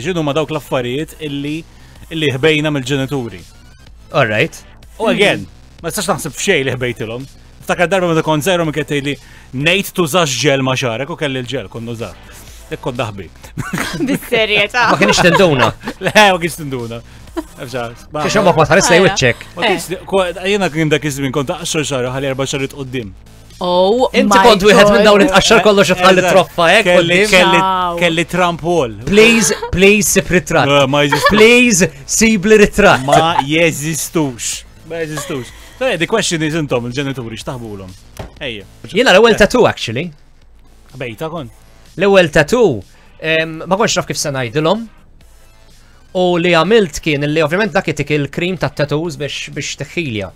X'inhu ma dawk l-affarijiet illi illi ħbejna mill-ġenituri. All right. U again, ma tistax naħseb f'xejn li ħbejtilhom. Ftakar darba meta kont żgħir u kien tgħidli ngħid tużax ġel ma' xagħrek u kelli l-ġel kont nużah. Dik kont naħbi. Bis-serjetà. Ma kienx tinduna. Le, ma kienx tinduna. Xi ma tħares lej wiċċek. Jiena kien dak iż-żmien kont aqxar xagħri ħalli erba' xahar quddiem. Oh, Inti kont wieħed minn dawn itqaxxar kollox tħalli troffa hekk. Kelli kelli kelli Trump wall. Please, please sib ritratt. Ma jeżistux. Please sib li ritratt. Ma jeżistux. Ma jeżistux. So, the question is intom il-ġenituri x'taħbulhom. Ejja. Jiena l-ewwel tattoo actually. Bejta kon. L-ewwel tattoo ma kontx naf kif se ngħidilhom. U li għamilt kien li ovvjament dak itik il-krim tat-tattoos biex biex teħħilja.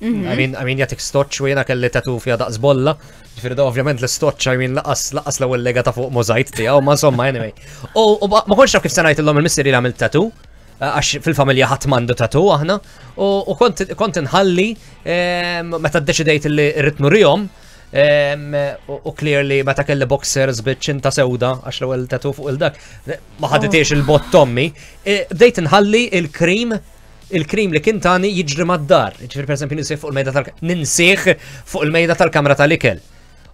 Mhm. I mean, I mean jatik stoċ u jena kelli tatu fija daqs bolla. Ġifieri da ovvjament l-istoċ, I mean, laqas laqas l-ewwel lega ta' fuq mużajt tiegħu, ma insomma anyway. U ma kontx naf kif se ngħidilhom il-missieri li għamilt tatu eh, għax fil-familja ħadd m'għandu tatu aħna, u kont inħalli ehm, meta ddeċidejt li rrid nurihom, ehm, u clearly meta kelli boxers biċ-ċinta sewda għax l-ewwel tatu fuq il-dak, ma ħaditiex il-bott tommi, eh, bdejt inħalli il-krim il-krim li kien tani jiġri mad-dar. Ġifieri pereżempju ninsih fuq il-mejda tal ninsih fuq il-mejda tal-kamra tal-ikel.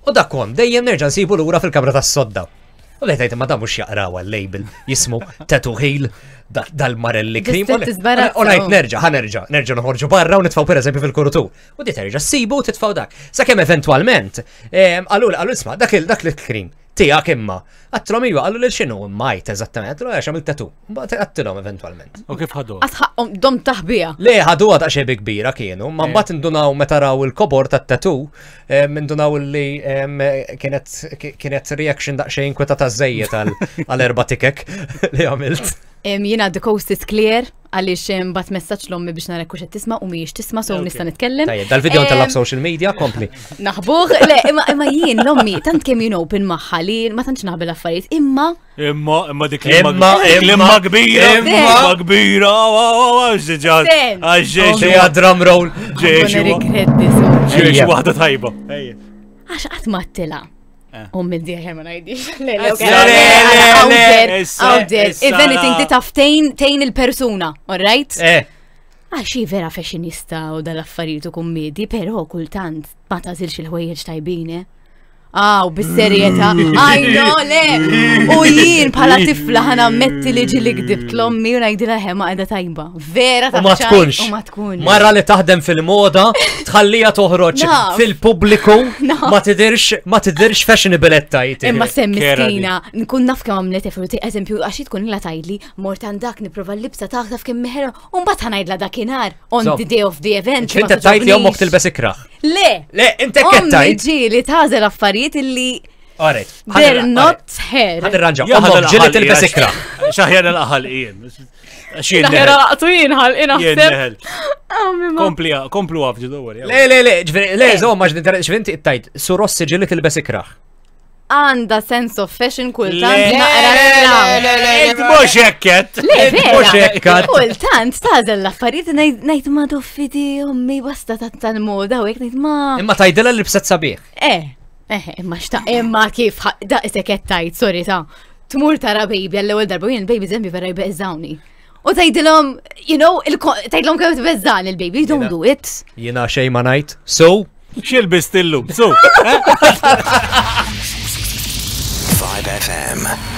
U dak kont dejjem nerġa' nsibu lura fil-kamra tas-sodda. U bdejt ngħid imma dan mhux jaqraw għal-label jismu Tattoo Heel dal-marelli krim. U ngħid nerġa' ħa nerġa' nerġa' noħorġu barra u nitfgħu pereżempju fil-kurutur. U di terġa' ssibu u titfgħu dak. Sakemm eventwalment, qalu qalu isma' dak il-krim tiegħek imma. Għattilhom iva, qallu lil x'inhu imma għidt eżattament, għattilhom għax għamilt tattoo. Mbagħad għattilhom eventwalment. U kif ħadu? Għatħaqhom dom taħbija. Le ħaduha daqsxejn bi kbira kienu, ma mbagħad indunaw meta raw il-kobor tat-tattoo, indunaw li kienet kienet reaction daqsxejn inkwetata żejjed għal erba' tikek li għamilt. Jiena the coast is clear għaliex bat messaġġ l-ommi biex nara kux qed tisma' u mhijiex tisma' so nista' nitkellem. Tajjeb, dal-video ntella' social media, kompli. Naħbuh, le, imma imma jien l-ommi tant kemm jien open magħha li ma tantx naħbi l-affarijiet, imma Imma, imma dik Imma, imma kbira, imma kbira, ġeġa, ġeġa, drum roll, ġeġa, ġeġa, waħda tajba. Għax qatt ma tila. Eh. U minn diħer ma najdix. Le, le, le, le, If anything, ti taf tejn il-persuna, all right? Eh. Għax hi vera fashionista u dal-affarijiet u kummedi, pero kultant ma tażilx il-ħwejjeġ tajbin, eh? Aw, bis-serjetà. I know, le. U jien bħala tifla ħana metti li ġili gdibt l-ommi u ngħidilha ħe ma qiegħda tajba. Vera U ma tkunx. U ma tkunx. Mara li taħdem fil-moda, tħallija toħroġ fil-pubbliku, ma tidirx, ma tidirx fashionable qed tgħid. Imma sem miskina, nkun naf kemm għamlet effort, eżempju, għax tkun la tgħidli, mort għandak nipprova l-libsa tagħha taf kemm meħra, u mbagħad ħanajdla dakinhar on the day of the event. Inti tgħid li ommok tilbes ikraħ. Le! Le, inti qed tgħid. Ġieli tagħżel affarijiet illi Alright. They're not here. Ħan irranġa. Ommok ġieli tilbes ikraħ. Xaħjar l-aħal jien. Xaħjar laqtu jien ħal inaħseb. Kompli, komplu għaf ġidu Le, le, le, le, zomma, ġvinti tajt, su Rossi ġieli tilbes ikraħ. Għanda sense of fashion kultant naqra Int mhux hekket. Le, mhux hekket. Kultant tażel l-affarijiet ngħid ma doffidi ommi basta tal-moda u hekk ngħid ma. Imma tajdilha li bset sabiħ. Eh, eh, imma xta' imma kif daqshekk qed tgħid, sorry ta' tmur tara baby għall-ewwel darba jien il-baby żembi vera jbeżżawni. U tgħidilhom, you know, tgħidilhom kemm tbeżżan il-baby, you don't do it. Jiena xejn ma ngħid. So, X'ilbist illum? So. 5FM.